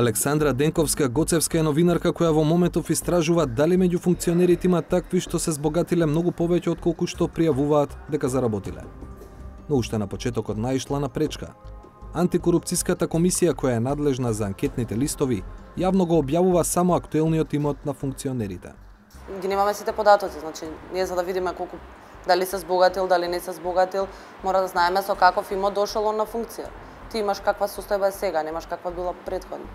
Александра Денковска-Гоцевска е новинарка која во моментов истражува дали меѓу функционерите има такви што се збогатиле многу повеќе отколку што пријавуваат дека заработиле. Но уште на почетокот наишла на пречка. Антикорупцијската комисија која е надлежна за анкетните листови јавно го објавува само актуелниот имот на функционерите. Ги немаме сите податоци, значи ние за да видиме колку дали се збогатил, дали не се збогатил, мора да знаеме со каков имот дошол он на функција. Ти имаш каква состојба е сега, немаш каква била претходно.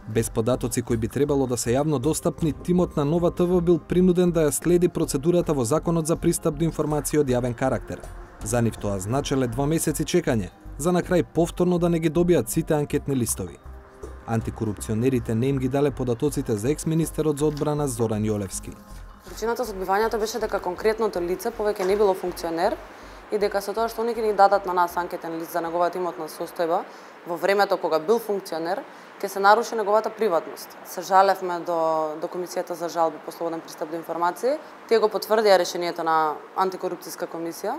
Без податоци кои би требало да се јавно достапни, тимот на Нова ТВ бил принуден да ја следи процедурата во Законот за пристап до информации од јавен карактер. За нив тоа значеле 2 месеци чекање, за на крај повторно да не ги добијат сите анкетни листови. Антикорупционерите не им ги дале податоците за екс-министерот за одбрана Зоран Јолевски. Причината за одбивањето беше дека конкретното лице повеќе не било функционер и дека со тоа што они ни дадат на нас анкетен лист за неговата имотна состојба во времето кога бил функционер, ќе се наруши неговата приватност. Се жалевме до Комисијата за жалби по слободен пристап до информации. Тие го потврдија решението на антикорупцијска комисија.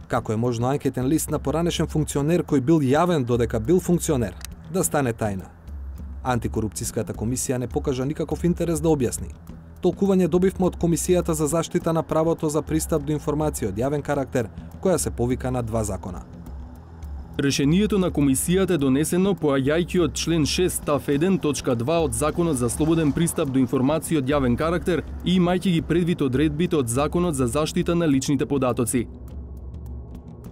Како е можно анкетен лист на поранешен функционер кој бил јавен додека бил функционер да стане тајна? Антикорупцијската комисија не покажа никаков интерес да објасни. Толкување добивме од Комисијата за заштита на правото за пристап до информација од јавен карактер, која се повика на 2 закона. Решението на комисијата е донесено поаѓајќи од член 6 став 1 точка 2 од Законот за слободен пристап до информација од јавен карактер и имајќи ги предвид одредбите од Законот за заштита на личните податоци.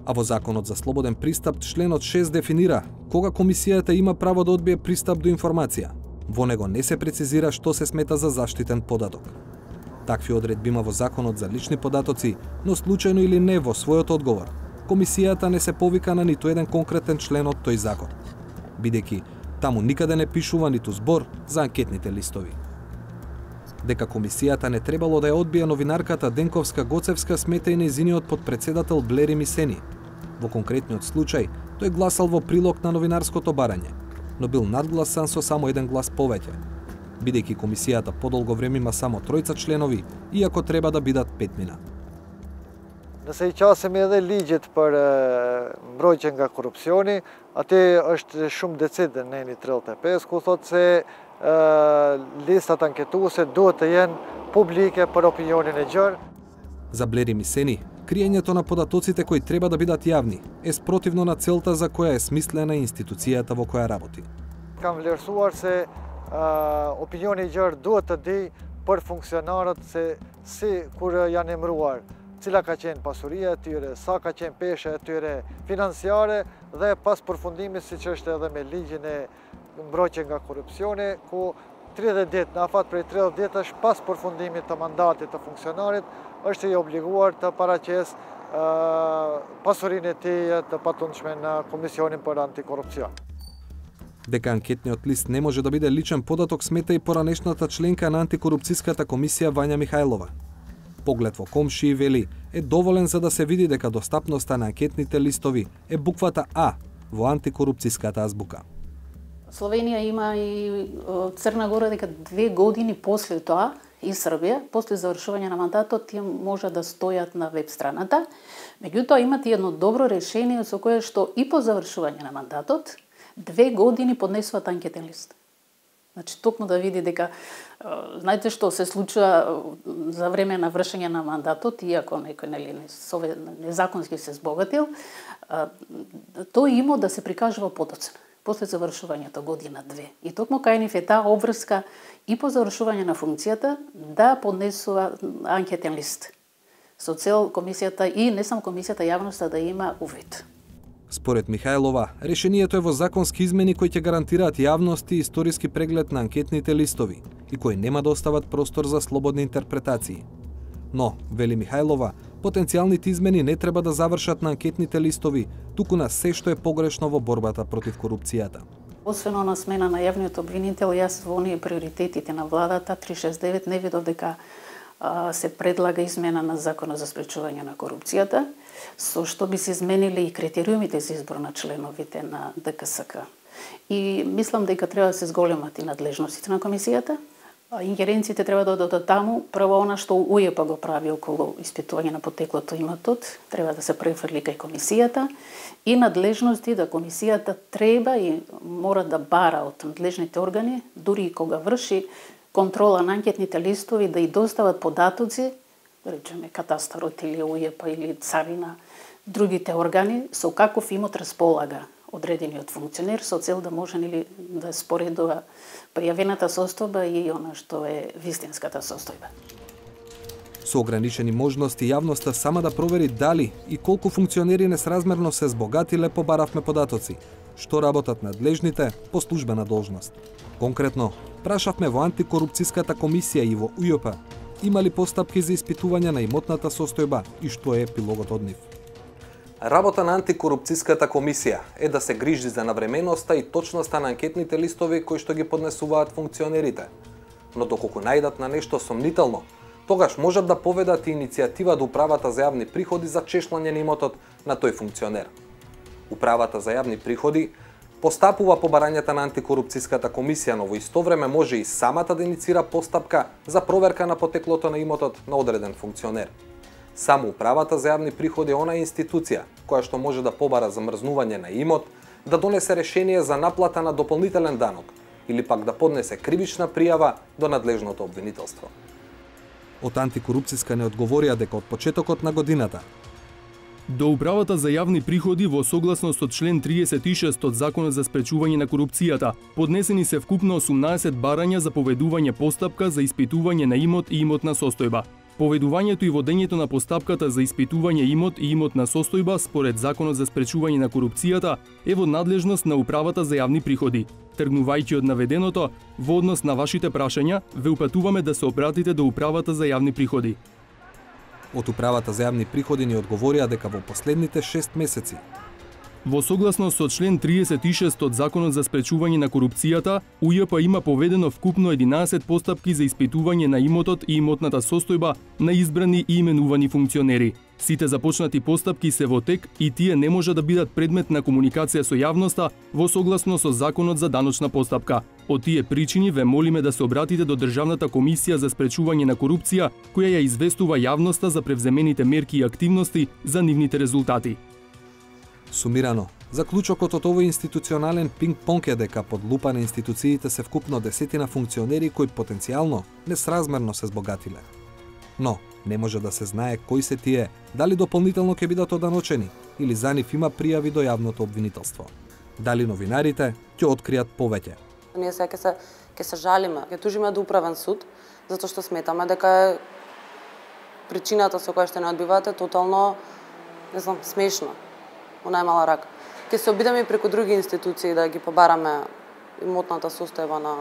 А во Законот за слободен пристап членот 6 дефинира кога комисијата има право да одбие пристап до информација. Во него не се прецизира што се смета за заштитен податок. Такви одредби има во Законот за лични податоци, но случајно или не во својот одговор, комисијата не се повика на ниту еден конкретен член од тој закон, бидејќи таму никаде не пишува ниту збор за анкетните листови. Дека комисијата не требало да ја одбие новинарката Денковска-Гоцевска смета и нејзиниот подпредседател Блери Мисени. Во конкретниот случај, тој гласал во прилог на новинарското барање, но бил надгласан со само 1 глас повеќе, бидејќи комисијата подолго време има само 3 членови, иако треба да бидат 5. Nëse I qasim edhe ligjet për mbrojtje nga korrupsioni, aty është shumë decid në eni 35, ku thotë se listat anketuese duhet të jenë publike për opinionin e gjerë. За Блери Мисени, криењето на податоците кои треба да бидат јавни е спротивно на целта за која е смислена институцијата во која работи. Kam vlerësuar se opinioni I gjerë duhet të di për funksionarët se si kur janë emëruar, cila ka qenë pasuria e tyre, sa ka qenë pesha e tyre financiare dhe pas përfundimit siç është edhe me ligjin e mbrojtje nga korrupsioni, ku 30 ditë, në afat prej 30 ditësh pas përfundimit të mandatit të funksionarit, është I obliguar të paraqes pasurinë e tij të patundshme në Komisionin për Antikorrupsion. Дека анкетниот лист не може да биде личен податок смета и поранешната членка на антикорупцијската комисија Вања Михајлова. Поглед во комши вели е доволен за да се види дека достапноста на анкетните листови е буквата А во антикорупцијската азбука. Словенија има и Црна Гора дека 2 години после тоа и Србија, после завршување на мандатот, тие може да стојат на веб страната. Меѓутоа имат и едно добро решение со кое што и по завршување на мандатот 2 години поднесуваат анкетен лист. Значи, токму да види дека, знаете што се случува за време на вршење на мандатот, иако некој незаконски се збогатил, тој има да се прикажува подоцна, после завршувањето година-2. И токму кај нив е таа обврска и по завршување на функцијата да поднесува анкетен лист. Со цел комисијата и не само комисијата, јавноста да има увид. Според Михајлова, решението е во законски измени кои ќе гарантираат јавност и историски преглед на анкетните листови и кои нема да остават простор за слободни интерпретации. Но, вели Михајлова, потенцијалните измени не треба да завршат на анкетните листови, туку на се што е погрешно во борбата против корупцијата. Освен на смена на јавниот обвинител, јас во оние приоритетите на владата 369 не видов дека се предлага измена на Законот за спречување на корупцијата, со што би се изменили и критериумите за избор на членовите на ДКСК. И мислам дека треба да се зголемат и надлежностите на комисијата, Ингеренциите треба да одат таму, прво она што УЈП го прави околу испитување на потеклото имотот, треба да се префрли кај комисијата и надлежности да комисијата треба и мора да бара од надлежните органи, дури и кога врши контрола на анкетните листови, да и достават податоци, да речеме катастарот или УЈП или царина, другите органи, со каков имот располага одредениот функционер, со цел да може да споредува пријавената состојба и она што е вистинската состојба. Со ограничени можности јавноста сама да провери дали и колку функционери несразмерно се збогатиле, побаравме податоци, што работат надлежните по службена должност. Конкретно, прашавме во антикорупцијската комисија и во УЈП има ли постапки за испитување на имотната состојба и што е епилогот од нив. Работа на антикорупцијската комисија е да се грижи за навременоста и точноста на анкетните листови кои што ги поднесуваат функционерите. Но доколку најдат на нешто сомнително, тогаш можат да поведат и иницијатива до Управата за јавни приходи за чешлање на имотот на тој функционер. Управата за јавни приходи постапува по барањата на антикорупцијската комисија, но во исто време може и самата да иницира постапка за проверка на потеклото на имотот на одреден функционер. Само Управата за јавни приходи е онаа институција која што може да побара замрзнување на имот, да донесе решение за наплата на дополнителен данок или пак да поднесе кривична пријава до надлежното обвинителство. Од антикорупцијска не одговорија дека од почетокот на годината до Управата за јавни приходи во согласност со член 36 од Законот за спречување на корупцијата поднесени се вкупно 18 барања за поведување постапка за испитување на имот и имотна состојба. Поведувањето и водењето на постапката за испитување имот и имотна состојба според Законот за спречување на корупцијата е во надлежност на Управата за јавни приходи. Тргнувајќи од наведеното, во однос на вашите прашања, ве упатуваме да се обратите до Управата за јавни приходи. Од Управата за јавни приходи ни одговорија дека во последните 6 месеци во согласност со член 36 од Законот за спречување на корупцијата, УЈП има поведено вкупно 11 постапки за испитување на имотот и имотната состојба на избрани и именувани функционери. Сите започнати постапки се во тек и тие не може да бидат предмет на комуникација со јавноста во согласно со Законот за даночна постапка. Од тие причини ве молиме да се обратите до Државната комисија за спречување на корупција, која ја известува јавноста за превземените мерки и активности за нивните резултати. Сумирано, заклучокот од овој институционален пинг-понг е дека под лупа на институциите се вкупно десетина функционери кои потенцијално несразмерно се збогатиле. Но, не може да се знае кои се тие, дали дополнително ќе бидат оданочени или за нив има пријави до јавното обвинителство. Дали новинарите ќе откријат повеќе. Ние сега ќе се жалиме, ќе тужиме до управен суд, затоа што сметаме дека е причината со која што не одбивате тотално, не знам, смешно. Во најмала рака. Ќе се обидеме и преку други институции да ги побараме имотната состојба на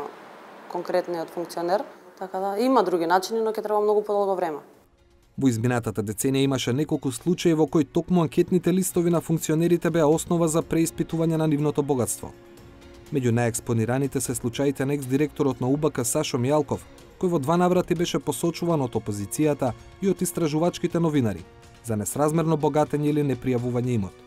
конкретниот функционер, така да има други начини, но ќе треба многу подолго време. Во изминатата деценија имаше неколку случаи во кои токму анкетните листови на функционерите беа основа за преиспитување на нивното богатство. Меѓу најекспонираните се случаите на екс-директорот на УБК Сашо Мијалков, кој во 2 наврати беше посочуван од опозицијата и од истражувачките новинари за несразмерно богатење или непријавување имот.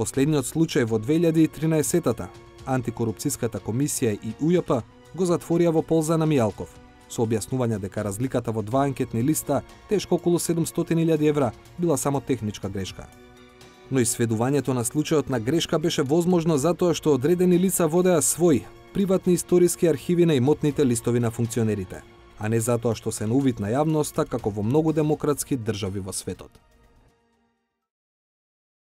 Последниот случај во 2013-та, антикорупцијската комисија и УЈП го затворија во полза на Мијалков, со објаснување дека разликата во 2 анкетни листа, тешко околу 700.000 евра, била само техничка грешка. Но и сведувањето на случајот на грешка беше возможно затоа што одредени лица водеа своји приватни историски архиви на имотните листови на функционерите, а не затоа што се на увид на јавноста како во многу демократски држави во светот.